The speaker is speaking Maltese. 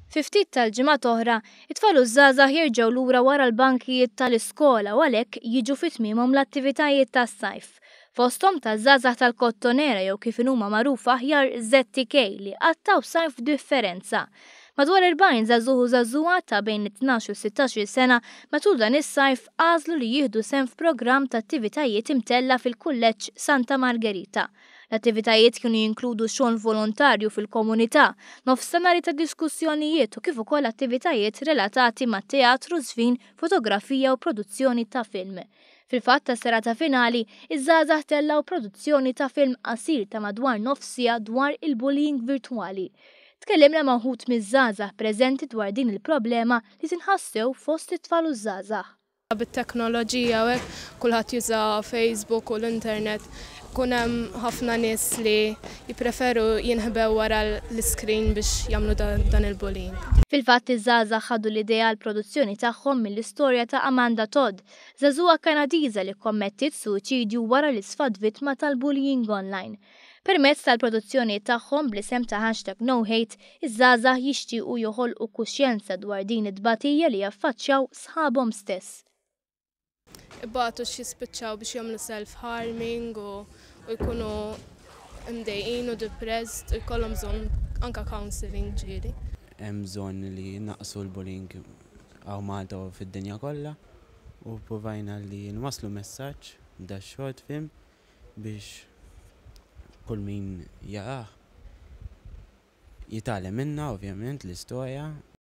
Fi ftit tal-ġimgħat oħra, it-tfal u ż-żgħażagħ jerġgħu lura wara l-bankijiet tal-iskola u għalhekk jiġu fi tmiemhom l-attivitajiet tas-sajf. Fosthom taż-żgħażagħ tal-Kottonera jew kif inhuma magħrufa aħjar ZTK li qattgħu sajf b'differenza. Madwar 40 żagħżugħ u żagħżugħa ta' bejn it-12 u 16-il sena matul dan is-sajf għażlu li jieħdu sehem f'programm ta' attivitajiet imtella' fil-Kulleġġ Santa Margherita. L-attivitajiet kienu jinkludu xogħol volontarju fil-komunità, nofstanhari ta' diskussjonijiet u kif ukoll attivitajiet relatati ma' teatru, żfin, fotografija u produzzjoni ta' film. Fil-fatt tas-serata finali, iż-żgħażagħ tellgħu produzzjoni ta' film qasir ta' madwar nofs siegħa dwar il-bullying virtwali. Tkellimna ma' wħud miż-żgħażagħ preżenti dwar din il-problema li tinħass sew fost it-tfal u ż-żgħażagħ. Bit-teknoloġija u hekk kulħadd juża Facebook u l-internet, ikun hemm ħafna nies li jippreferu jinħbew wara l-iscreen biex jagħmlu dan il-bullying. Fil-fatt iż-żgħażagħ ħadu l-idea għall-produzzjoni tagħhom mill-istorja ta' Amanda Todd, żagħżugħa Kanadiża li kkommettiet suwiċidju wara li sfat vittma tal-bullying online. Permezz tal-produzzjoni tagħhom bl-isem ta' hashtag NoHate, iż-żgħażagħ jixtiequ joħolqu kuxjenza dwar din it-tbatija li jaffaċċjaw sħabhom stess. Ibatu x'jispiċċaw biex jagħmlu self-harming u jkunu mdejqin u depressed u jkollhom bżonn anka counselling ġieli. Hemm bżonn li naqsu l-bullying hawn Malta u fid-dinja kollha u provajna li nwasslu messaġġ b'da short film biex kull min jarah jitgħallem minnha, ovvjament, l-istorja.